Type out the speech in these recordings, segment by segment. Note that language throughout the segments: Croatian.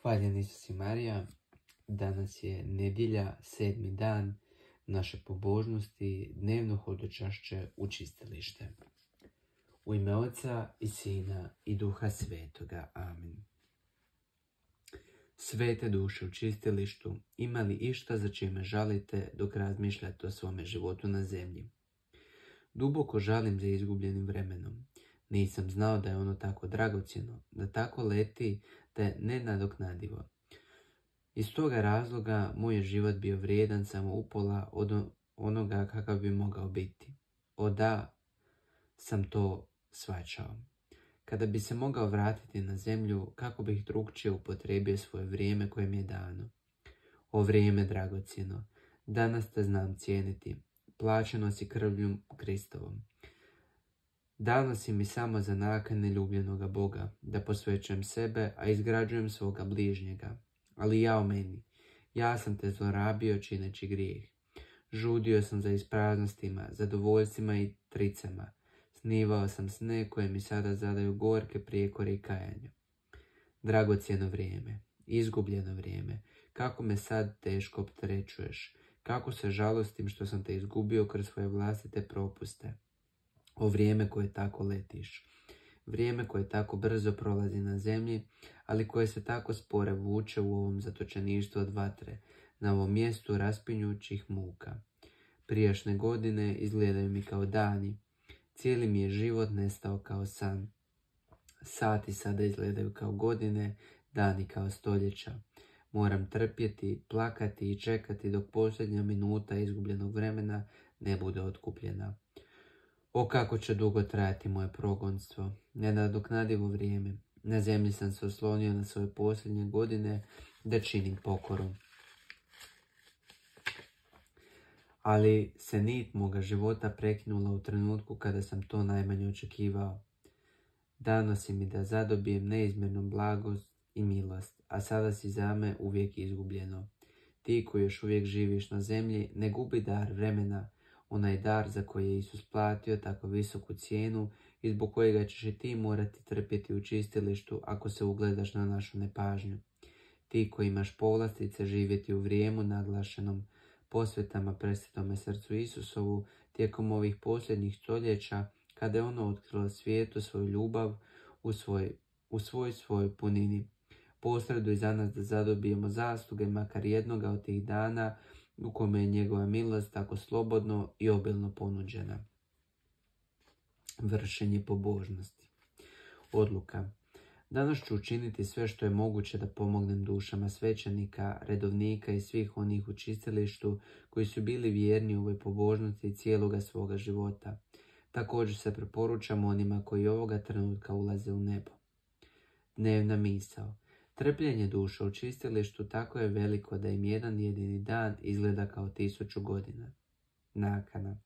Hvaljen Isus i Marija, danas je nedjelja, 7. dan naše pobožnosti, dnevno hodočašće u čistilište. U ime Oca i Sina i Duha Svetoga. Amen. Svete duše u čistilištu, ima li išta za čime žalite dok razmišljate o svome životu na zemlji? Duboko žalim za izgubljenim vremenom. Nisam znao da je ono tako dragocjeno, da tako leti, da je nenadoknadivo. Iz toga razloga moj je život bio vrijedan samo upola od onoga kakav bi mogao biti. Da sam to shvaćao. Kada bi se mogao vratiti na zemlju, kako bih drukčije upotrijebio svoje vrijeme koje mi je dano. O vrijeme dragocjeno, danas te znam cijeniti, plaćeno si krvlju Kristovom. Dano si mi samo za nakane ljubljenoga Boga, da posvećujem sebe, a izgrađujem svoga bližnjega. Ali ja o meni, ja sam te zlorabio čineći grijeh. Žudio sam za ispraznostima, zadovoljstvima i tricama. Snivao sam sne koje mi sada zadaju gorke prijekore i kajanja. Dragocjeno vrijeme, izgubljeno vrijeme, kako me sad teško opterećuješ, kako se žalostim što sam te izgubio kroz svoje vlastite propuste. O vrijeme koje tako letiš, vrijeme koje tako brzo prolazi na zemlji, ali koje se tako spore vuče u ovom zatočeništvu od vatre, na ovom mjestu raspinjućih muka. Prijašnje godine izgledaju mi kao dani, cijeli mi je život nestao kao san. Sati sada izgledaju kao godine, dani kao stoljeća. Moram trpjeti, plakati i čekati dok posljednja minuta izgubljenog vremena ne bude otkupljena. O kako će dugo trajati moje progonstvo, nenadoknadivo vrijeme. Na zemlji sam se oslonio na svoje posljednje godine da činim pokoru. Ali se nit moga života prekinula u trenutku kada sam to najmanje očekivao. Dano si mi da zadobijem neizmjernu blagost i milost, a sada si za me uvijek izgubljeno. Ti koji još uvijek živiš na zemlji, ne gubi dar vremena, onaj dar za koji je Isus platio tako visoku cijenu i zbog kojega ćeš i ti morati trpjeti u čistilištu ako se ugledaš na našu nepažnju. Ti koji imaš povlastice živjeti u vrijemu naglašenom posvetama presvetome srcu Isusovu tijekom ovih posljednjih stoljeća, kada je ono otkrilo svijetu svoju ljubav u svojoj punini. Posreduj za nas da zadobijemo zasluge makar jednoga od tih dana u kome je njegova milost tako slobodno i obilno ponuđena. Vršenje pobožnosti. Odluka. Danas ću učiniti sve što je moguće da pomognem dušama svećenika, redovnika i svih onih u čistilištu koji su bili vjerni u ovoj pobožnosti cijeloga svoga života. Također se preporučam onima koji ovoga trenutka ulaze u nebo. Dnevna misao. Trpljenje duša u čistilištu tako je veliko da im jedan jedini dan izgleda kao 1000 godina. Nakana.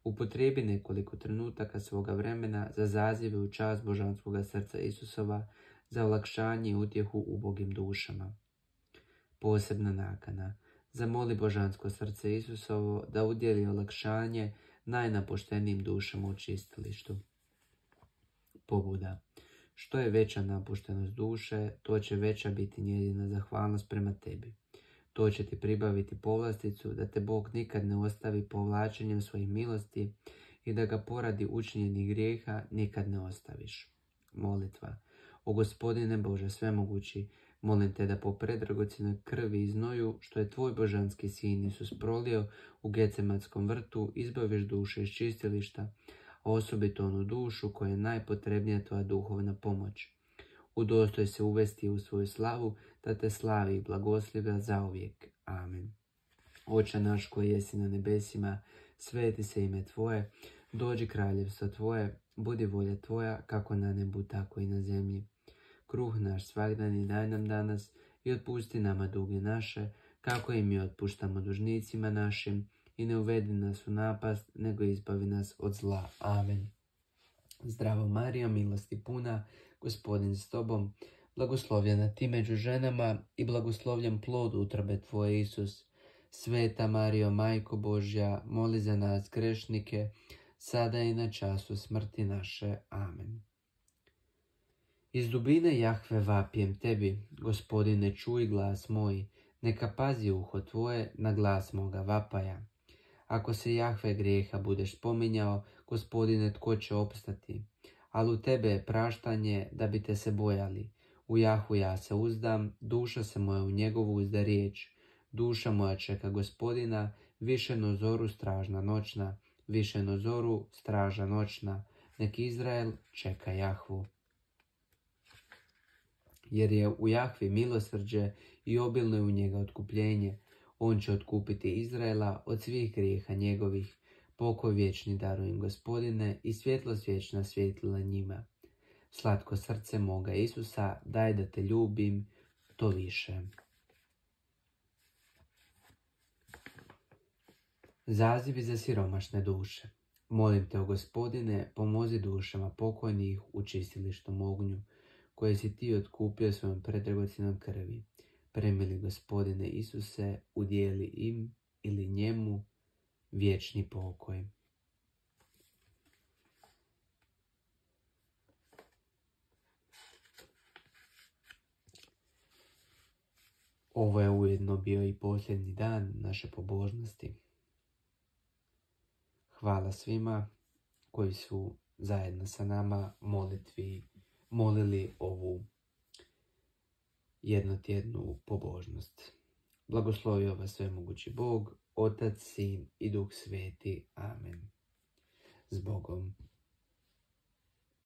Upotrijebi nekoliko trenutaka svoga vremena za zazive u čast božanskoga srca Isusova, za olakšanje i utjehu ubogim dušama. Posebna nakana. Zamoli božansko srce Isusovo da udjeli olakšanje najnapuštenijim dušama u čistilištu. Pobuda. Što je veća napuštenost duše, to će veća biti njezina zahvalnost prema tebi. To će ti pribaviti povlasticu da te Bog nikad ne ostavi povlačenjem svojih milosti i da ga poradi učinjenih grijeha nikad ne ostaviš. Molitva. O Gospodine Bože svemogući, molim te da po predragocjenoj krvi i znoju što je tvoj božanski sin Isus prolio u Gecematskom vrtu izbaviš duše iz čistilišta, a osobito onu dušu koja je najpotrebnija tvoja duhovna pomoć. Udostoj se uvesti u svoju slavu, da te slavi i blagoslivlja zauvijek. Amen. Oče naš koji jesi na nebesima, sveti se ime tvoje, dođi kraljevstvo tvoje, budi volja tvoja, kako na nebu, tako i na zemlji. Kruh naš svagdani daj nam danas i otpusti nama duge naše, kako i mi otpuštamo dužnicima našim, i ne uvedi nas u napast, nego izbavi nas od zla. Amen. Zdravo Marijo, milosti puna, Gospodin s tobom, blagoslovljena ti među ženama i blagoslovljen plod utrobe tvoje, Isus. Sveta Marijo, Majko Božja, moli za nas grešnike, sada i na času smrti naše. Amen. Iz dubine Jahve vapijem tebi, Gospodine, čuj glas moj, neka pazi uho tvoje na glas moga vapaja. Ako se Jahve grijeha budeš spominjao, Gospodine, tko će opstati? Ali u tebe je praštanje da bi te se bojali. U Jahu ja se uzdam, duša se moja u njegovu uzda riječ. Duša moja čeka Gospodina, više no zoru stražna noćna, više no zoru straža noćna. Nek Izrael čeka Jahvu. Jer je u Jahvi milosrđe i obilno je u njega otkupljenje. On će otkupiti Izraela od svih grijeha njegovih. Pokoj vječni darujem, Gospodine, i svjetlost vječna svjetlila njima. Slatko srce moga Isusa, daj da te ljubim to više. Zazivi za siromašne duše. Molim te, o Gospodine, pomozi dušama pokojnih u čistilištom ognju, koje si ti otkupio svojom predragocjenom krvi. Premili, Gospodine Isuse, udijeli im ili njemu vječni pokoj. Ovo je ujedno bio i posljednji dan naše pobožnosti. Hvala svima koji su zajedno sa nama molili ovu jednotjednu pobožnost. Blagoslovio vas svemogući Bog, Otac, Sin i Duh Sveti. Amen. S Bogom.